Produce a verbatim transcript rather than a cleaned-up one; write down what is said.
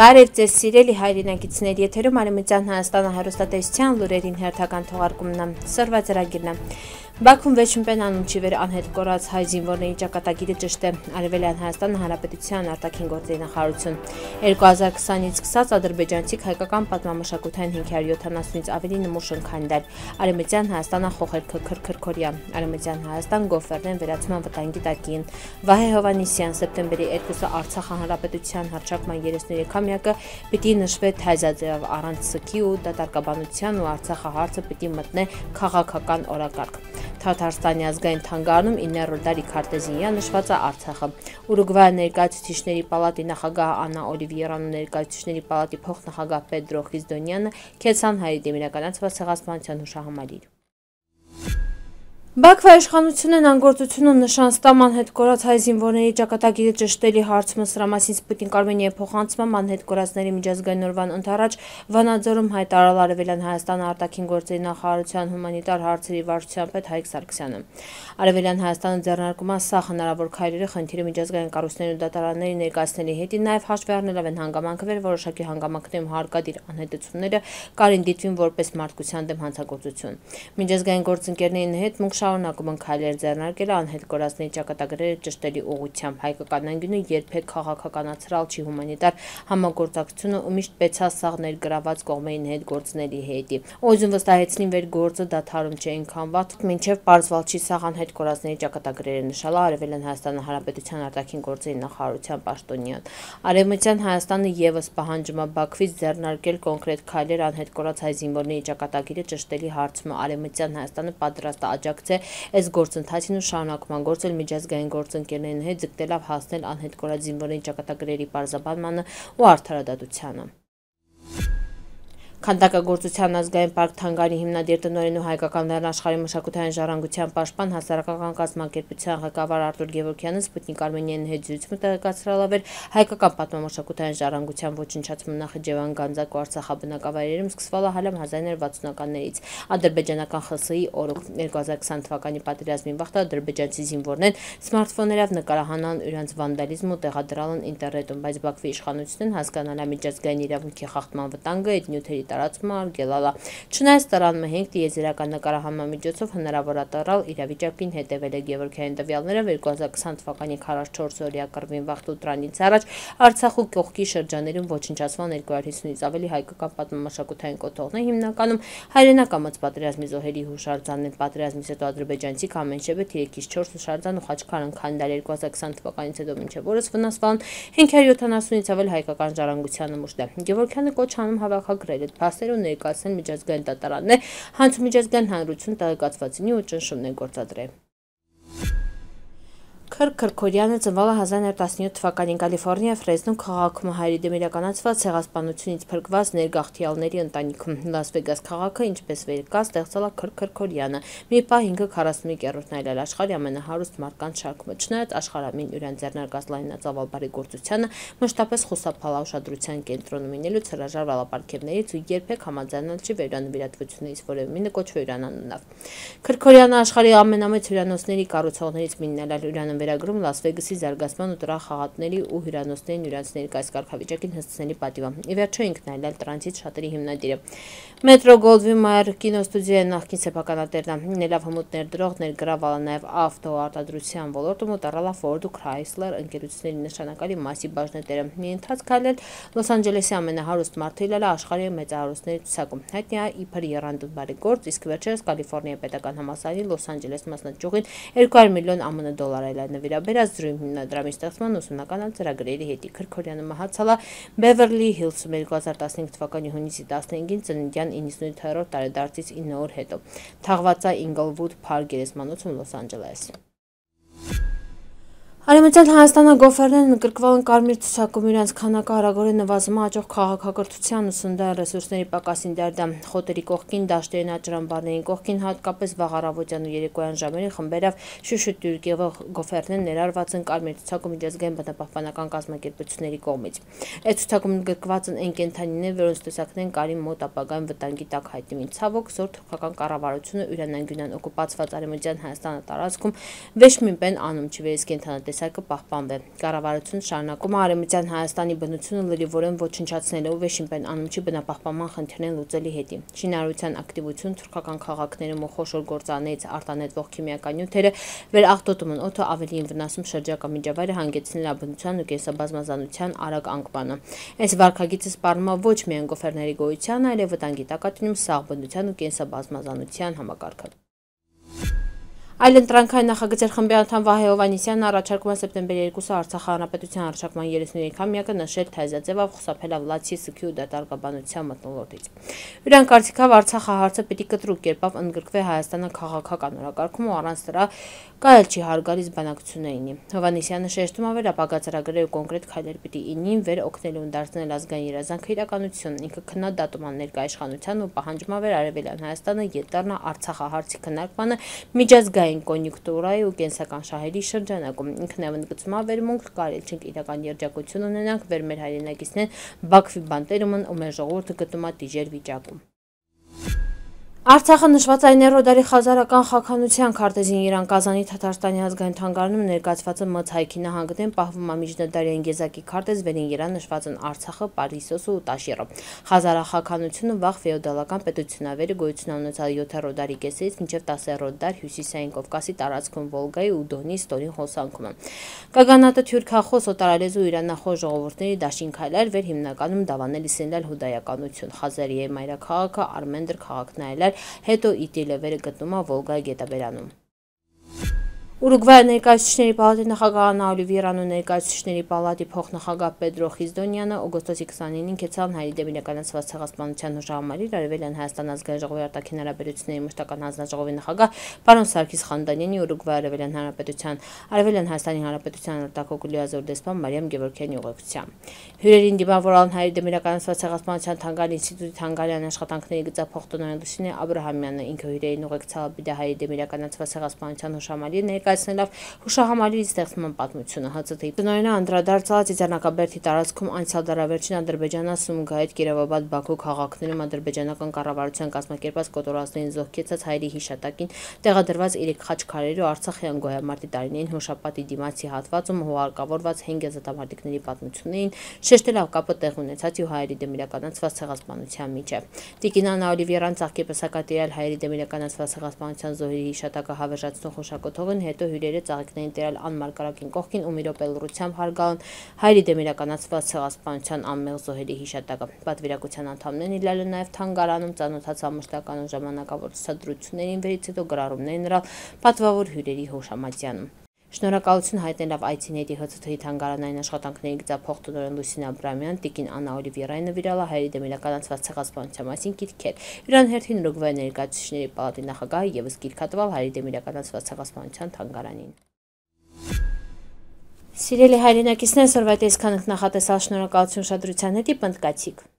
Բարև ձեզ սիրելի հայրենակիցներ, եթերում Արևմտյան Հայաստանը հեռուստատեսության լուրերին հերթական թողարկումն է, սրված ծրագիրն է։ Բաքվում վերջին անունչի վեր անհետ կորած հայ զինվորների ճակատագիրը ճշտ է, Արևելյան Հայաստանը Հանրապետության արտաքին գործերի նախարարություն։ երկու հազար քսանից սկսած ադրբեջանցիք հայկական պատմամշակութային հինգ հարյուր յոթանասունից ավելի նմուշ են քանդել։ Արևմտյան Հայաստանը խոխերքը քրքրքորյա, Արևմտյան Հայաստան գովերնեն վերացման վտանգի տակին։ Վահե Հովհաննիսյան, սեպտեմբերի երկուսը Արցախ Հանրապետության հռչակման երեսներեքամյակը պիտի նշվի թայզաձև առանց սքի ու դատարկաբանության ու Արցախը հարցը պիտի մտնե քաղաքական օրակարգ։ Թաթարստանի ազգային թանգարանում իններորդ դարի Քարտեզինյան նշված է Արցախը։ Ուրուգվայի ներկայացուցիչների պալատի նախագահ Աննա Օլիվիերան ու ներկայացուցիչների պալատի փոխնախագահ Պեդրո Խիզդոնյանը քեցան հայերի դեմ իրականացված ցեղասպանության հուշահամալիր։ Բաքվի իշխանությունն անգործությունը նշան ստամ անհետ կորած հայ զինվորների ճակատագիրը ճշտելի հարցը սրա մասին Սպուտնիկ Արմենիայի փոխանցմամբ անհետ կորածների միջազգային օրվան ընթരാճ Վանաձորում հայտարարել Արևելյան Հայաստանը արտաքին գործերի նախարարության հումանիտար հարցերի վարչության պետ Հայկ Սարգսյանը։ Արևելյան Հայաստանը ձեռնարկում է սա հնարավոր քայլերը խնդիրը միջազգային կառույցների ու դատարանների ներկայացնելի հետին նաև հաշվի առնելով են հանգամանքներ, որոշակի հանգամանքներում հարկադիր անհետությունները կարին դիտվին որպես մարդկության դեմ հանցագործություն։ Միջազգային գործընկերների հետ մուգ շարունակում են քայլեր ձեռնարկել անհետ կորածների ճակատագրերը ճշտելի ուղղությամբ։ Հայկական անկյունը երբեք քաղաքականացրալ չի հումանիտար համագործակցությունը ու միշտ պետք է սաղ ներգրաված կողմերին հետ գործների հետի։ Օզուն վստահեցնին վեր գործը դադարում չէ այնքան վատ, մինչև պարզվել չի սաղ անհետ կորածների ճակատագրերը նշել Արևելյան Հայաստանը Հանրապետության արտաքին գործերի նախարարության պաշտոնյան։ Արևմտյան Հայաստանը եւս պահանջում է Բաքվից ձեռնարկել կոնկրետ քայլեր անհետ կորած հայ զինվորների ճակատագիրը ճշտելի հարցում։ Արևմտյան Հայաստանը պատրաստ է աջակցել այս գործընթացին ու շարունակում են գործել միջազգային գործընկերների հետ ձգտելով հասնել անհետ կորած զինվորների ճակատագրերի պարզաբանմանը ու արդարադատությանը։ Քանդակագործության ազգային պարկ Թանգարանի հիմնադիր տնօրեն ու հայկական լեռնաշխարհի մշակութային ժառանգության պաշտպան հասարակական կազմակերպության ղեկավար Արտուր Գևորգյանը Սպուտնիկ Արմենիայի հետ զրույցում տեղեկացրել էր հայկական պատմամշակութային ժառանգության ոչնչացումը Նախիջևան, Գանձակ ու Արցախաբնակավայրերում սկսվել է հալամ հազար ինը հարյուր վաթսունականներից ադրբեջանական ԽՍՀ-ի օրոք երկու հազար քսան թվականի պատերազմի վաղ ադրբեջանցի զինվորներն սմարթֆոններով նկարահանան իրենց վանդալիզմ ու տեղադրալ են ինտերնետում, բայց Բաքվի իշխանությունն հասկանալա միջազգային իրավունքի խախտման վտանգը այդ նյութերի տարածումը արգելալա։ Չնայած տարան մհենք տիեզերական նկարահանման միջոցով հնարավոր է տառալ իրավիճակին հետևել է Գևորգյանի տվյալներով երկու հազար քսան թվականի քառասունչորս օրյա կռվին վաղ ուտրանից առաջ Արցախու կողքի շրջաներում ոչնչացման երկու հարյուր հիսունից ավելի հայկական պատմամշակութային կոթողներ հիմնականում հայրենական պատերազմի զոհերի հուշարձանն են։ Պատերազմից հետո ադրբեջանցիք ամենշեբը երեքից չորս հուշարձան ու խաչքար քանդել երկու հազար քսան թվականից հետո մինչև օրս վնասվել հինգ հարյուր յոթանասունից ավել հայկական ժառանգության նմուշներ։ Գևորգյանը կոչ անում հավաքագրել այդ փաստերը ու ներկայացնել միջազգային դատարաններ, հանց միջազգային հանրություն տեղեկացվածինի ու ճնշումներ գործադրել։ Քրքրքորյանը ծնվել է հազար ինը հարյուր տասնյոթ թվականին Կալիֆոռնիա Ֆրեզնո քաղաքում հայերի դեմ իրականացված ցեղասպանությունից փրկված ներգաղթյալների ընտանիքում։ Լաս Վեգաս քաղաքը, ինչպես վեր կա, ստեղծել է Քրքրքորյանը։ Մի պահ ինքը քառասունմեկ երրորդն այլ աշխարհի ամենահարուստ մարդկանց շարքում է։ Չնայած աշխարհամին յուրան ձեռնարկած լայնածավալ բարեգործությանը մշտապես խուսափալ ուշադրության կենտրոնում լինելուց հրաժարվել ապարքևներից ու երբեք համաձայնել չի վերանվիրատվություններից որևէ մինը կոչվի հյուրանանունով։ Քրքորյանը աշխարհի ամենամեծ հյուրանոցների կառուցողներից մեկն է, հյուրանը վերագրում Լաս Վեգասի զարգացման ու տրախ խաղատների ու հյուրանոցների նույնանց ներկայիս կարգավիճակին հստցնելի պատիվ է։ Ի վերջո ինքն այլ տրանզիտ շատերի հիմնադիրը։ Մետրո Գոլդվին Մայր կինոստուդիայի նախկին սեփականատերն է, լինելով հմուտ ներդրող ներգրավել է նաև ավտո արտադրության ոլորտում ու տարալ է Ford ու Chrysler ընկերությունների նշանակալի մասի բաժնետերը։ Մի ընթացք այլ Լոս Անջելեսի ամենահարուստ մարդը իլել է աշխարհի մեծահարուստների ցուցակում։ Հայտնի է իբր եռանդուն բարեգործ, իսկ վերջերս Կալիֆոռնիայի պետական համալսարանի Լոս Անջելես մասնաճյուղին երկու հարյուր միլիոն ԱՄՆ դոլար այլ նվիրաբերած դրույմ հիմնադրամի ստեղծման ուսումնական ծրագրերի հետ։ Քրքորյանը մահացել է Բևերլի Հիլսում երկու հազար տասնհինգ թվականի հունիսի տասնհինգին ծննդյան իննսունութերորդ տարեդարձից ինը օր հետո։ Թաղված է Ինգլվուդ Փարք գերեզմանոցում Լոս Անջելես։ Արևմտյան Հայաստանը գովերներն ընդգրկվել են կարմիր ցուցակում իրենց քանակը արագորեն նվազում աճող քաղաքակրթության ու սննդային ռեսուրսների պակասին դերդամ խոտերի կողքին դաշտերին աճրամբարներին կողքին հատկապես վաղ առավոտյան ու երեկոյան ժամերին խմբերով շուշուտ եղող գովերներ ներառված են կարմիր ցուցակում միջազգային բնապահպանական կազմակերպությունների կողմից։ Այդ ցուցակում ընդգրկված են այն կենդանիներ, որոնց տեսակներն կարին մոտ ապագայում վտանգի տակ հայտնվին։ Ցավոք զոր թուրքական կառավարությունը յուրան անգյունան օկուպացված Արևմտյան Հայաստանը տարածքում վեշ միմպեն անում չի վերես կենդանատես տեսակը պահպանվի։ Կառավարությունը շարունակում է Արևմտյան Հայաստանի բնությունը լրիվորեն ոչնչացնելու Վեշիմպեն անումչի բնապահպանման խնդիրներն լուծելի հետին։ Շինարարության ակտիվություն, թուրքական քաղաքներում ու խոշոր գործարաններից արտանետվող քիմիական նյութերը վերաղտոտում են օդը ավելին վնասում շրջակա միջավայրը, հանգեցնել է բնության ու կենսաբազմազանության արագ անկմանը։ Այս վարքագիծը սպառնում է ոչ միայն գոֆերների գոյությանը, այլև վտանգի տակ է դնում սաղ բնության ու կենսաբազմազանության համակարգը։ Այլընտրանքային նախագծեր խմբի անդամ Վահե Հովհաննիսյանն առաջարկում է սեպտեմբերի երկուսը Արցախ հանրապետության հռչակման երեսունյոթամյակը նշել թայզաձևով խուսափել Վլադսի սգի ու դատարկաբանության մթնոլորտից։ Յուրան կարծիքով Արցախը հարցը պիտի կտրուկ կերպով ընդգրկվի Հայաստանը քաղաքական օրակարգում ու առանց դրա կայել չի հարգալից բանակցություններին։ Հովհաննիսյանը շեշտում է, որ ապագա ծրագրեր ու կոնկրետ քայլեր պիտի ինին վեր օգնելու դարձնել ազգային երազանքը իրականություն։ Ինքը քննադատում է ներկա իշխանության ու պահանջում է, որ Արևելյան Հայաստանը յետ դառնա Արցախահարցի քննարկմանը միջազգային կոնյունկտուրայի ու կենսական շահերի շրջանակում։ Ինքն է ընդգծում է վերմունք կարել չենք իրական երջանկություն ունենանք, վեր մեր հայրենակիցներն Բաքվի բանտերում են ու մեր ժողովուրդը գտնում է տիժեր վիճակում։ Արցախը նշված այն երրորդ խազարական խաքանության քարտեզին Իրան Կազանի Թաթարստանի ազգային թանգարանում ներկայացված մց հայքի նահանգներն պահվում է միջնադարյան գեզակի քարտեզ, վերին Իրան նշված են Արցախը, Պարիսոսը ու Տաշիրը։ Խազարախաքանությունը վաղ ֆեոդալական պետությունավերը գոյություն ունեցած յոթերորդ դարի կեսերից մինչև տասերորդ դար հյուսիսային Կովկասի տարածքում Վոլգայի ու Դոնի ստորին հոսանքում է։ Կագանատը թյուրքախոս օտարալեզու իրանախոս ժողովուրդների դաշին քայլեր վեր հիմնականում դավանել իսլել հուդայականություն։ Խազարիի մայրաքաղաքը Արմենդր քաղաքն այլել հետո Իդիլը վերը գտնում է Վոլգայի գետաբերանում։ Ուրուգվայի ներկայացուցիչների պալատի նախագահ Աննա Օլիվիերանու ներկայացուցիչների պալատի փոխնախագահ Պեդրո Խիզդոնյանը օգոստոսի քսանինին կեցան Հայերի դեմ իրականացված ցեղասպանության հուշահամալիր Արևելյան Հայաստան ազգային ժողովի արտաքին հարաբերությունների մշտական հանձնաժողովի նախագահ պարոն Սարգիս Խանդանյանի, Ուրուգվայի Արևելյան Հանրապետության Արևելյան Հայաստանի Հանրապետության արտակոկուլի ազոր դեսպան Մարիամ Գևորգյանի ուղեկցությամբ։ Հյուրերին դիմավորան Հայերի դեմ իրականացված ցեղասպանության թանգարանի ինստիտուտի թանգարյան աշխատանքների գծափոխտնօրեն Լուսինե Աբրահամյանը, ինքը հյուրերին ուղեկցավ Բիդա Հայերի դեմ իրականացված ցեղասպանության հուշահամալիր ներկայացնելով հուշահամալիրի ստեղծման պատմությունը։ ՀՑԹ-ի տնօրենը անդրադարձած Ծիծեռնակաբերդի տարածքում անցյալ դարավերջին Ադրբեջանա Սումգայիթ, Կիրովաբադ, Բաքու քաղաքներում ադրբեջանական կառավարության կազմակերպած կոտորածներին զոհկեցած հայերի հիշատակին տեղադրված իրեք խաչքարերի ու Արցախյան գոյամարտի տարիներին հուշապատի դիմացի հատվածում հուղարկավորված հենգեզատամարտիկների պատմություններին, շեշտելով կապը տեղ ունեցած ու հայերի դեմ իրականացված ցեղասպանության միջև։ Տիկին Աննա Օլիվիերան ծաղկի պսակատիրել հայերի դեմ իրականացված ցեղասպանության զոհերի հիշատակը հավերժացնող հուշակոթողին, հետո հյուրերը ծաղիկներին տերալ անմարգարակին կողքին ու մի րոպե լռությամբ հարգալն հայերի դեմ իրականացված ցեղասպանության անմեղ զոհերի հիշատակը։ Պատվիրակության անդամներն իլել են նաև թանգարանում ծանոթացան մշտական ու ժամանակավոր ցուցադրություններին, վերից հետո գրառումներ նրան պատվավոր հյուրերի հուշամատյանում։ Շնորհակալություն հայտնելով այցիների ՀՑԹ-ի թանգարանային աշխատանքների գծափոխտնօրեն Լուսինե Աբրահամյան, տիկին Աննա Օլիվիերային նվիրել է հայերի դեմ իրականացված ցեղասպանության մասին գիրքեր։ Յուրան հերթին Ուրուգվայի ներկայացուցիչների պալատի նախագահը ևս գիրք հատվել հայերի դեմ իրականացված ցեղասպանության թանգարանին։ Սիրելի հայրենակիցներ, սորվայտ այսքան նախատեսալ, շնորհակալություն ուշադրության հետ, պնդկացիք։